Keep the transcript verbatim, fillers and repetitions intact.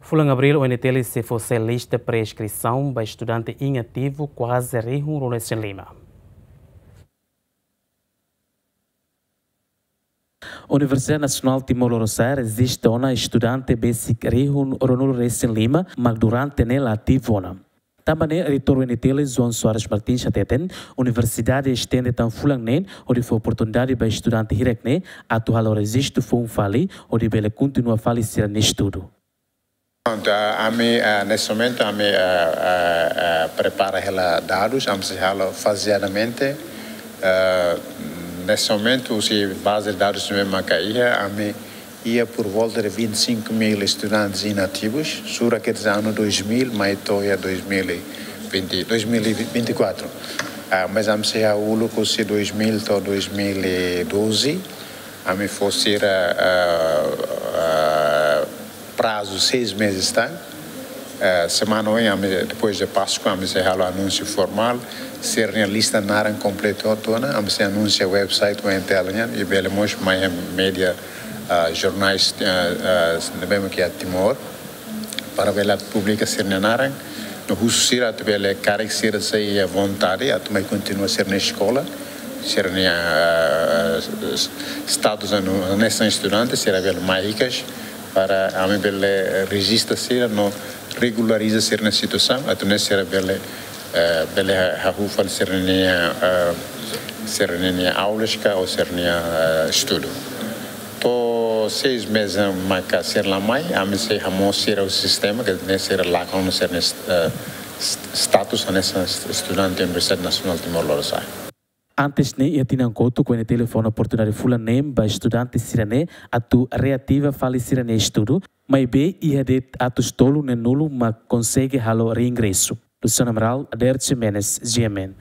Fulan Abríl, O N T L sei fó sai lista pré-inskrisaun ba estudante inativu kuaze rihun ruanulu-resin-lima. Universidade Nasionál Timor Lorosa'e rejista ona estudante besik rihun ruanulu-resin-lima, mak durante ne'e la ativu ona. Tanba ne'e, Reitór U N T L, João Soares Martins, hateten, universidade estende tan fulan neen, hodi fó oportunidade ba estudante hirak-ne'e atu halo rejistu foun fali, hodi bele kontinua fali sira-nia estudu. Pronto, a-, ami, ah, neste momento, ami, ah, ah, ah, prepara hela dadus, ami sei halo fazeadamente. Ah, neste momento, husi baze de dadus ne'ebé maka iha, ami iha por volta de vinte e cinco mil estudantes inativos, sura ke anu dois mil, mai to'o iha dois mil e vinte, dois mil e vinte e quatro. Ah, mas ami sei ha'u uluk husi dois mil to'o dois mil e doze, ami fó sira, ah, ah, prazo seis meses tan. Ah, semana oin, ami, depois de Páscoa, ami sei halo anúnsiu formál, sira-nia lista naran kompletu hotu ona, ami sei anunsia website U N T L nian, i bele mós mai média, ah, jornais, ah, ah, ne'ebé ke iha Timor, para bele publika sira-nia naran, no husu sira atu bele karik sira sente vontade atu mai kontinua sira-nia eskola, sira-nia, ah, status anu, hanesan estudante, sira bele mai hikas, para ami bele rejista sira no regulariza sira-nia situasaun, atu nune'e sira bele, eh, bele ha-, hahú fali sira-nia, eh, sira-nia aulas ka ou sira-nia, eh, estudu. To'o seis meses maka sira la mai, ami sei hamoos sira husi sistema, ke nune'e sira lakon sira-nia, eh, st-, status hanesan estudante Universidade Nasionál Timor Lorosa'e. Antes ne'e, iha tinan kotuk, U N T L fó ona oportunidade fulan neen ba estudante sira-ne'e atu reativa fali sira-nia estudu, maibé iha de'it atus tolu neen-nulu mak konsege halo reingresu. Luciano Amaral, Ader Ximenes, G M N.